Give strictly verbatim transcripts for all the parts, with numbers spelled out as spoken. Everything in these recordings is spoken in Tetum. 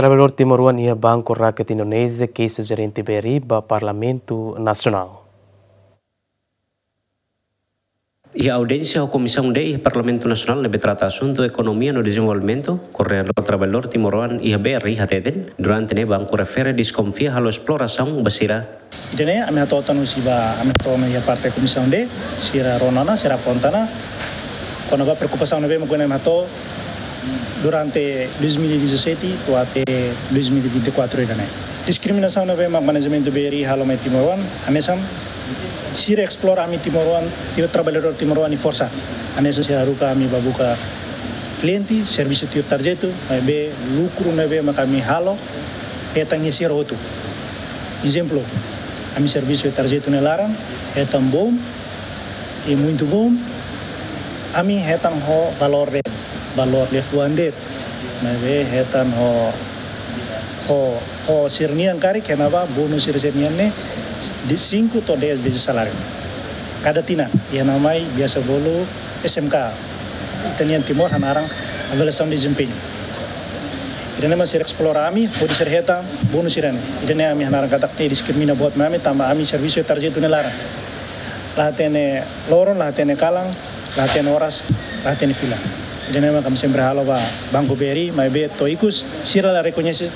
Traballadór timoroan iha Banku Rakyat Indonézia keixa Jerente B R I ba Parlamentu Nasionál. Iha audiénsia ho Komisaun D iha Parlamentu Nasionál ne'ebé trata asuntu ekonomia no dezenvolvimentu, koordenadór traballadór timoroan iha B R I hateten, durante ne'e banku refere deskonfia halo esplorasaun ba sira. Ida-ne'e ami hato'o tan husi ba, ami hato'o ona iha parte Komisaun D, sira rona ona, sira aponta ona kona-ba preokupasaun ne'ebé mak ami hato'o durante dois mil e dezassete to'o até dois mil e vinte e quatro ida-ne'e. Diskriminasaun ne'ebé mak manajementu B R I halo mai timoroan, hanesan sira esplora ami timoroan, tio traballadór timoroan nia forsa. Hanesan sira haruka ami ba buka kliente, servisu tuir tarjetu, maibé lukru ne'ebé mak ami halo hetan iha sira hotu. Ezemplu, ami servisu iha tarjetu nia laran, hetan bom, i muitu bom, ami hetan ho valór de'it, valór liafuan de'it, maibé hetan ho, ho, ho sira-nian karik, kona-ba bónus sira, sira-nian ne'e, de cinco to'o dez vezes saláriu. Kada tinan, iha namai biasa bolu S M K, ita-nian Timor hanaran avaliasaun dezempeñu. Ida-ne'e mak sira esplora ami, hodi sira hetan bónus sira-ne'e. Ida-ne'e ami hanaran katak ne'e diskrimina buat mai ami, tanba ami servisu iha tarjetu nia laran. La hatene loron, la hatene kalan, la hatene oras, la hatene fila. Ida-ne'e mak ami sempre halo ba Banku B R I, maibé to'o ikus, sira la rekoñese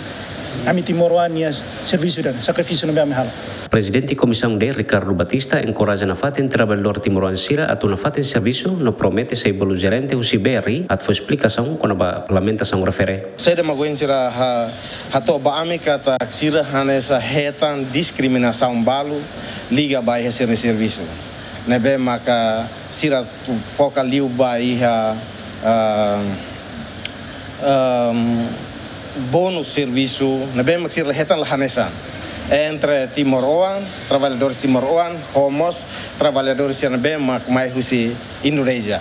ami timoroan nia servisu dan sakrifísiu ne'ebé ami halo. Prezidente Komisaun D, Ricardo Batista, enkoraja nafatin traballadór timoroan sira atu nafatin servisu no promete sei bolu jerente husi B R I atu fó esplikasaun kona-ba parlamentasaun refere. Saida mak ohin sira ha, hato'o ba ami katak sira hanesan hetan diskriminasaun balu liga ba iha sira-nia servisu. Ne'ebé maka sira foka liu ba iha, ah, ehm, bónus servisu ne'ebé mak sira hetan la hanesan entre timoroan, traballadores timoroan, ho mós traballadores sira ne'ebé mak mai husi Indonézia.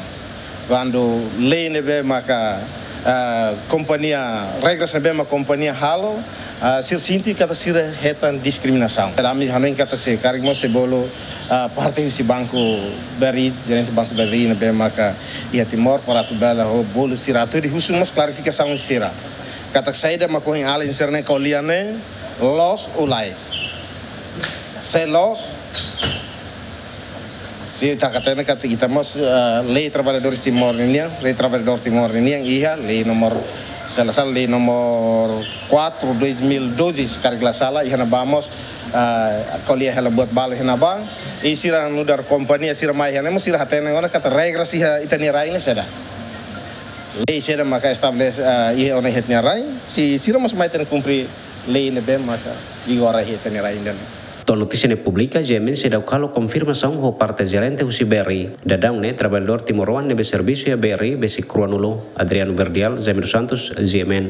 Kuandu lei ne'ebé maka, ah, kompañia, regras ne'ebé mak kompañia halo, ah, sira sente katak sira hetan diskriminasaun. Ami hanoin katak sei karik mós sei bolu, ah, parte husi Banku B R I, jerente Banku B R I ne'ebé maka iha Timor, para atu bele ho bolu sira atu hodi husu mós klarifikasaun sira. Katak saida mak ohin alin sira-ne'e ko'alia ne'e, loos ou lae. Se loos, se ita hatene katak ita mós, eh, lei traballadores Timor ninian, lei traballadór Timor ninian iha, lei nomor, se la sala, lei nomor quatro dois mil doze, se karik la sala, iha ne'ebá mós, eh, ko'alia hela buat balu iha ne'ebá, i sira nu'udar kompañia sira mai iha ne'e mós sira hatene ona katak regras iha ita-nia rai ne'e saida. Lei saida maka estabelese, eh, iha ona iha ita-nia rai, se sira mós mai tenke kumpre lei ne'ebé maka vigora iha ita-nia rai ida-ne'e. To'o notísia ne'e publika, G M N seidauk halo konfirmasaun ho parte jerente husi B R I. Daudaun ne'e traballadór timoroan ne'ebé servisu iha B R I besik ruanulu. Adriano Verdial, Jaime dos Santos, G M N.